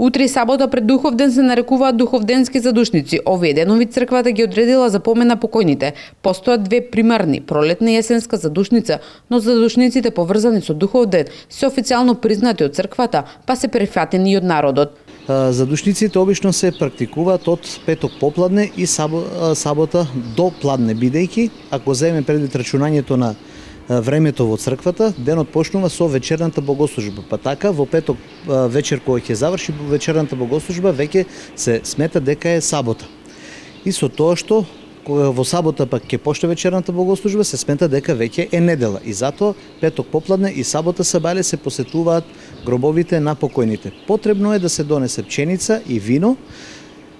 Утре и сабота пред Духовден се нарекуваат духовденски задушници. Овие денови црквата ги одредила за помен на покојните. Постојат две примарни, пролетна и есенска задушница, но задушниците поврзани со Духовден се официјално признати од црквата, па се прифатени и од народот. Задушниците обично се практикуваат од петок попладне и сабота до пладне, бидејќи ако земеме предвид рачунањето на времето во црквата, денот почнува со вечерната богослужба. Па така во петок вечер кога ќе заврши вечерната богослужба веќе се смета дека е сабота. И со тоа што кога во сабота пак ќе почне вечерната богослужба се смета дека веќе е недела. И затоа петок попладне и сабота сабале се посетуваат гробовите на покојните. Потребно е да се донесе пченица и вино,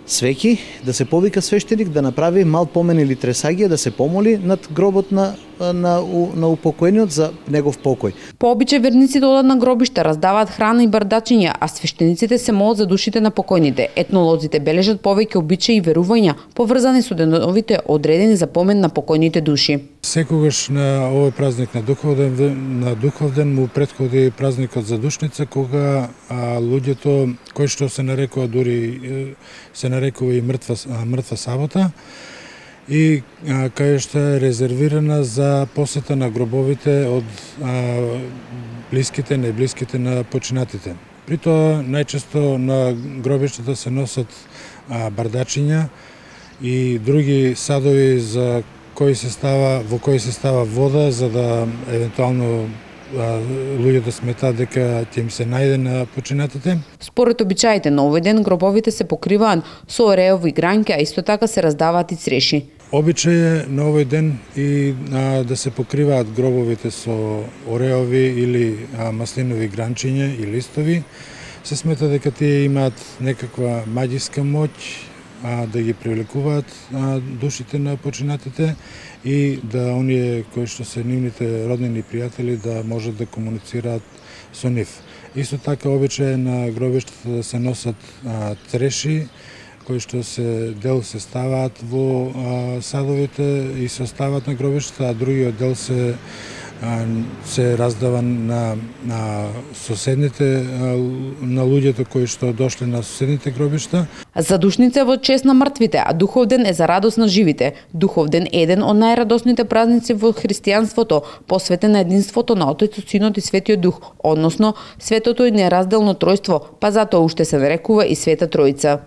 свеќи, да се повика свештеник да направи мал помен или тресагија, да се помоли над гробот на упокоениот за негов покој. По обичај верниците одат на гробишта, раздаваат храна и бардачиња, а свештениците се молат за душите на покојните. Етнолозите бележат повеќе обичаи и верувања поврзани со деновите одредени за помен на покојните души. Секогаш на овој празник на Духовден му претходи празникот за душница, кога луѓето кои што се нарекува дури се нарекува и мртва сабота, и кај што е резервирана за посета на гробовите од блиските, неблиските на починатите. При тоа најчесто на гробиштата се носат бардачиња и други садови во кои се става вода, за да евентуално луѓето сметаат дека ќе им се најде на починатите. Според обичаите на овој ден гробовите се покриваат со ореови гранки, а исто така се раздаваат и цреши. Обичај е на овој ден и да се покриваат гробовите со ореови или маслинови гранчиња и листови. Се смета дека тие имаат некаква маѓиска моќ да ги привлекуваат душите на починатите и да оние кои што се нивните роднини и пријатели да можат да комуницираат со нив. Исто така обичај на гробиштата да се носат треши кои што дел се ставаат во садовите и се оставаат на гробиштата, а другиот дел се раздава на соседните, на луѓето кои што дошле на соседните гробишта. Задушница е во чест на мртвите, а Духовден е за радост на живите. Духовден е еден од најрадосните празници во христијанството, посветен на единството на Отецот, Синот и Светиот Дух, односно светото и неразделно тројство, па затоа уште се нарекува и Света Тројца.